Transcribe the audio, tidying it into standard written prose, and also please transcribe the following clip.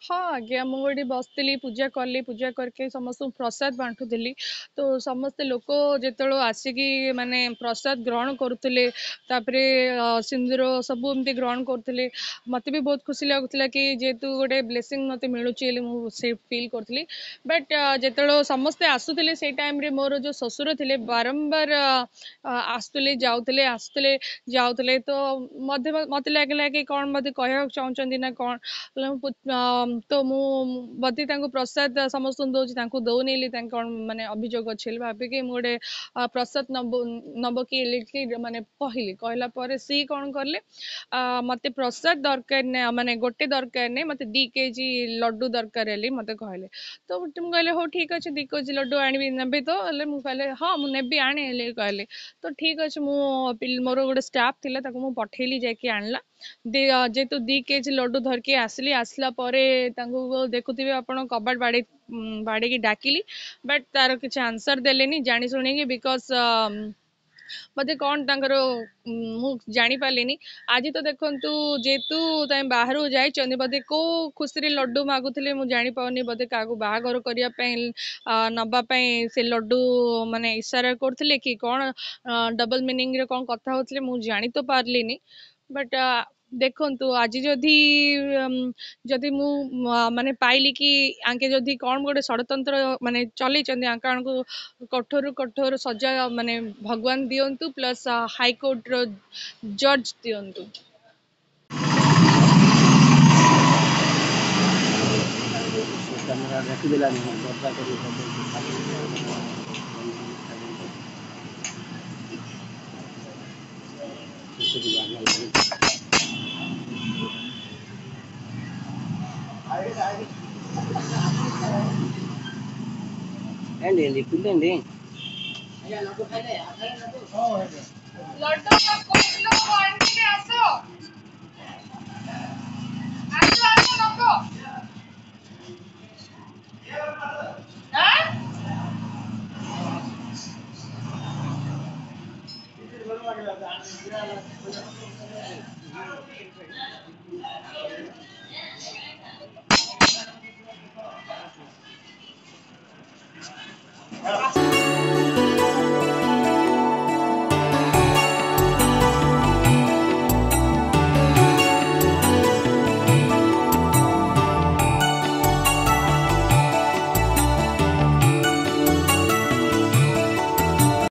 ହଁ ଆଜ୍ଞା, ମୁଁ ଏଠି ବସିଥିଲି, ପୂଜା କଲି, ପୂଜା କରିକି ସମସ୍ତଙ୍କୁ ପ୍ରସାଦ ବାଣ୍ଟୁଥିଲି। ତ ସମସ୍ତେ ଲୋକ ଯେତେବେଳେ ଆସିକି ମାନେ ପ୍ରସାଦ ଗ୍ରହଣ କରୁଥିଲେ, ତାପରେ ସିନ୍ଦୁର ସବୁ ଏମିତି ଗ୍ରହଣ କରୁଥିଲେ, ମୋତେ ବି ବହୁତ ଖୁସି ଲାଗୁଥିଲା କି ଯେହେତୁ ଗୋଟେ ବ୍ଲେସିଂ ମୋତେ ମିଳୁଛି ବୋଲି ମୁଁ ସେ ଫିଲ୍ କରୁଥିଲି। ବଟ୍ ଯେତେବେଳେ ସମସ୍ତେ ଆସୁଥିଲେ, ସେଇ ଟାଇମ୍ରେ ମୋର ଯେଉଁ ଶ୍ୱଶୁର ଥିଲେ ବାରମ୍ବାର ଆସୁଥିଲେ ଯାଉଥିଲେ, ଆସୁଥିଲେ ଯାଉଥିଲେ। ତ ମୋତେ ଲାଗିଲା କି କ'ଣ ମୋତେ କହିବାକୁ ଚାହୁଁଛନ୍ତି ନା କ'ଣ। ତ ମୁଁ ବୋଧେ ତାଙ୍କୁ ପ୍ରସାଦ ସମସ୍ତଙ୍କୁ ଦେଉଛି, ତାଙ୍କୁ ଦେଉନି ବୋଲି ତାଙ୍କ କ'ଣ ମାନେ ଅଭିଯୋଗ ଅଛି ବୋଲି ଭାବିକି ମୁଁ ଗୋଟେ ପ୍ରସାଦ ନବ କି ବୋଲି ମାନେ କହିଲି। କହିଲା ପରେ ସିଏ କ'ଣ କଲେ, ମୋତେ ପ୍ରସାଦ ଦରକାର ନାହିଁ, ମାନେ ଗୋଟେ ଦରକାର ନାହିଁ, ମୋତେ 2 କେଜି ଲଡ଼ୁ ଦରକାର ବୋଲି ମୋତେ କହିଲେ। ତ ମୁଁ କହିଲି ହଉ ଠିକ୍ ଅଛି, 2 କେଜି ଲଡ଼ୁ ଆଣିବି, ନେବି ତ? ହେଲେ ମୁଁ କହିଲେ ହଁ ମୁଁ ନେବି, ଆଣେ ହେଲେ କହିଲେ। ତ ଠିକ୍ ଅଛି, ମୁଁ ମୋର ଗୋଟେ ଷ୍ଟାଫ୍ ଥିଲା, ତାକୁ ମୁଁ ପଠେଇଲି, ଯାଇକି ଆଣିଲା। ଯେହେତୁ 2 କେଜି ଲଡ଼ୁ ଧରିକି ଆସିଲି, ଆସିଲା ପରେ ତାଙ୍କୁ ଦେଖୁଥିବେ ଆପଣ କବାଟ ବାଡ଼େଇ ବାଡ଼େଇକି ଡାକିଲି, ବଟ୍ ତାର କିଛି ଆନ୍ସର୍ ଦେଲେନି ଜାଣି ଶୁଣିକି, because ବୋଧେ କ'ଣ ତାଙ୍କର ମୁଁ ଜାଣିପାରିଲିନି। ଆଜି ତ ଦେଖନ୍ତୁ, ଯେହେତୁ ତାଙ୍କେ ବାହାରକୁ ଯାଇଛନ୍ତି, ବୋଧେ କେଉଁ ଖୁସିରେ ଲଡ଼ୁ ମାଗୁଥିଲେ ମୁଁ ଜାଣିପାରୁନି। ବୋଧେ କାହାକୁ ବାହାଘର କରିବା ପାଇଁ ନେବା ପାଇଁ ସେ ଲଡ଼ୁ ମାନେ ଇସାରା କରୁଥିଲେ କି କ'ଣ ଡବଲ୍ ମିନିଂରେ କ'ଣ କଥା ହେଉଥିଲେ ମୁଁ ଜାଣି ତ ପାରିଲିନି। ବଟ୍ ଦେଖନ୍ତୁ, ଆଜି ଯଦି ମୁଁ ମାନେ ପାଇଲି କି ଆଙ୍କେ ଯଦି କ'ଣ ଗୋଟେ ଷଡ଼ଯନ୍ତ୍ର ମାନେ ଚଲେଇଛନ୍ତି, ଆଙ୍କମାନଙ୍କୁ କଠୋରରୁ କଠୋର ସଜା ମାନେ ଭଗବାନ ଦିଅନ୍ତୁ, ପ୍ଲସ୍ ହାଇକୋର୍ଟର ଜଜ୍ ଦିଅନ୍ତୁ। କ୍ୟାମେରା ରଖିଦେଲାନି, ଦରଜା କରି ఏంటి ఏంటి పిల్లండి. ଲଡୁ ଆସ ଆସ ଆସ ନବ।